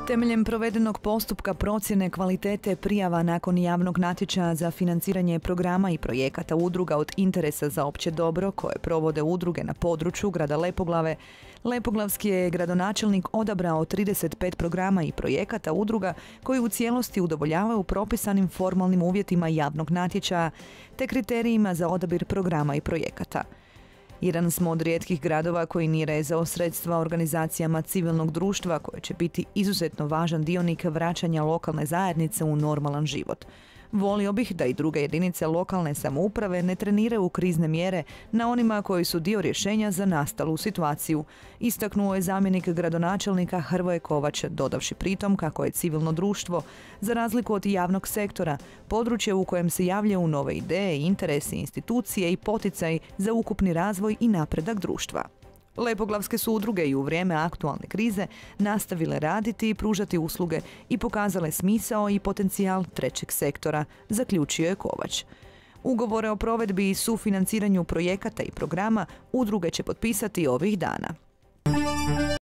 Temeljem provedenog postupka procjene kvalitete prijava nakon javnog natječaja za financiranje programa i projekata udruga od interesa za opće dobro koje provode udruge na području grada Lepoglave, lepoglavski je gradonačelnik odabrao 35 programa i projekata udruga koji u cijelosti udovoljavaju propisanim formalnim uvjetima javnog natječaja te kriterijima za odabir programa i projekata. Jedan smo od rijetkih gradova koji nije rezao sredstva organizacijama civilnog društva koje će biti izuzetno važan dionik vraćanja lokalne zajednice u normalan život. Volio bih da i druge jedinice lokalne samouprave ne treniraju krizne mjere na onima koji su dio rješenja za nastalu situaciju, istaknuo je zamjenik gradonačelnika Hrvoje Kovač, dodavši pritom kako je civilno društvo, za razliku od javnog sektora, područje u kojem se javljaju nove ideje, interesi, institucije i poticaji za ukupni razvoj i napredak društva. Lepoglavske su udruge i u vrijeme aktualne krize nastavile raditi i pružati usluge i pokazale smisao i potencijal trećeg sektora, zaključio je Kovač. Ugovore o provedbi i sufinanciranju projekata i programa udruge će potpisati ovih dana.